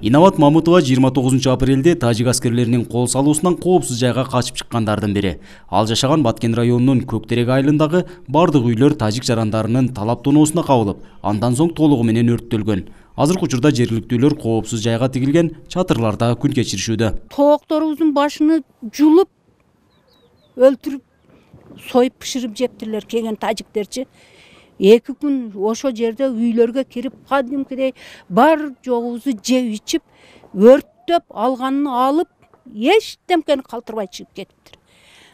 Инабат Мамытова 29 апрелде тажик аскерлеринин кол салуусунан коопсуз жайга качып чыккандардын бири. Ал жашаган Баткен районунун Көктерек айылындагы бардык үйлөр тажик жарандарынын талап тоноосуна кабылып, андан соң толугу менен өрттөлгөн. Азыркы учурда жергиликтүүлөр коопсуз жайга тигилген чатырларда күн кечиришүүдө. Тоокторубуздун башыны жулуп, өлтүрүп, союп пышырып жептирлер келген тажиктерчи. 2 күн ошо жерде үйлөргө кирип, кадимкидей бар жогубузду жеп ичип, өрттөп, алганын алып, эчтемкени калтырбай чыгып кетиптир.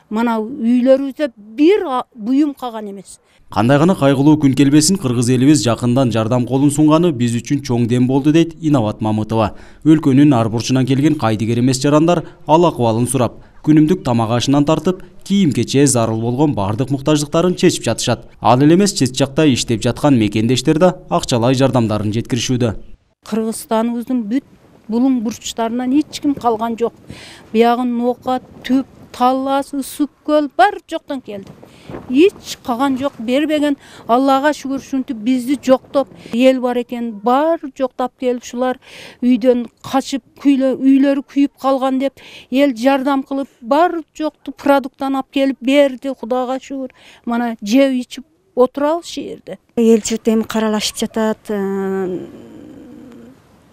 Мана үйлөрүбүздө бир буюм калган эмес. Кандай гана кайгылуу күн келбесин, кыргыз элибиз жакындан жардам колун сунганы биз үчүн чоң дем болду, дейт Инабат Мамытова. Өлкөнүн ар бурчунан келген кайдыгер эмес жарандар ал акыбалын сурап, күнүмдүк тамак ашынан тартып, кийим-кече зарыл болгон бардык муктаждыктарын чечип жатышат. Ал эле эмес, чет жакта иштеп жаткан мекендештер да акчалай жардамдарын жеткиришүүдө. Кыргызстаныбыздын бүт булуң бурчтарынан эч ким калган жок. Биягы Нока, Түп, Таллас, Ысык көл бар жоктон келди. Эч калган жок, бербеген. Аллага шүгүр, ушинтип бизди жоктоп, эл бар экен, бар жоктап келип, шулар үйдөн качып, үйлөрү күйүп калган деп, эл жардам кылып, бар жокту продукттан алып келип берди, Кудайга шүгүр. Мана жеп ичип отурабыз шу жерде. Эл журт эми каралашып жатат.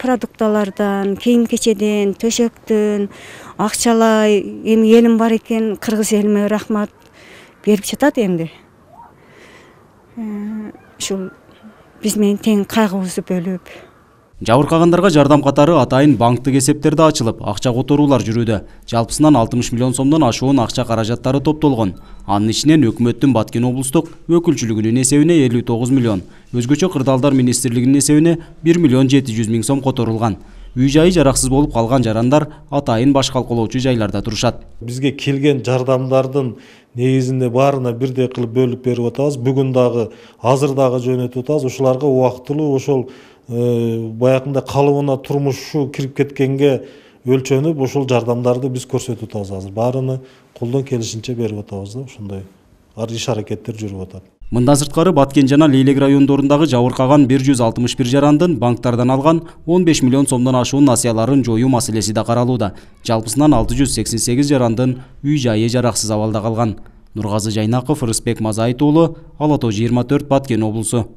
Продукталардан, кийим-кечеден, төшөктөн, акчалай, эми элим бар экен, кыргыз элиме рахмат берип жатат эмди. Ушул биз менен тең кайгыбызды бөлүп. Жабыркагандарга жардам катары атайын банктык эсептерде ачылып, акча которуулар жүрүүдө. Жалпысынан 60 миллион сомдон ашуун акча каражаттары топтолгон. Анын ичинен өкмөттүн Баткен облустук өкүлчүлүгүнүн эсебине 59 миллион, өзгөчө кырдаалдар министрлигинин эсебине 1 миллион 700 миң сом которулган. Үй жайы жараксыз болуп калган жарандар атайын баш калкалоочу жайларда турушат. Бизге келген жардамдардын негизинде баарына бирдей кылып бөлүп берип атабыз. Бүгүн дагы, азыр дагы жөнөтүп атабыз. Ушуларга убактылуу ошол баягында калыбына турмушу кирип кеткенге өлчөнүп, ушул жардамдарды биз көрсөтүп атабыз азыр. Баарыны колдон келишинче берип атабыз да, ошондой иш аракеттер жүрүп атат. Мындан сырткары Баткен жана Лейлек райондорундагы жабыркаган 161 жарандын банктардан алган 15 миллион сомдон ашуун насыяларын жоюу маселеси да каралууда. Жалпысынан 688 жарандын үй жайы жараксыз абалда калган. Нургазы Жайнаков, Рыспек Мазайыт уулу, Ала Тоо 24, Баткен облусу.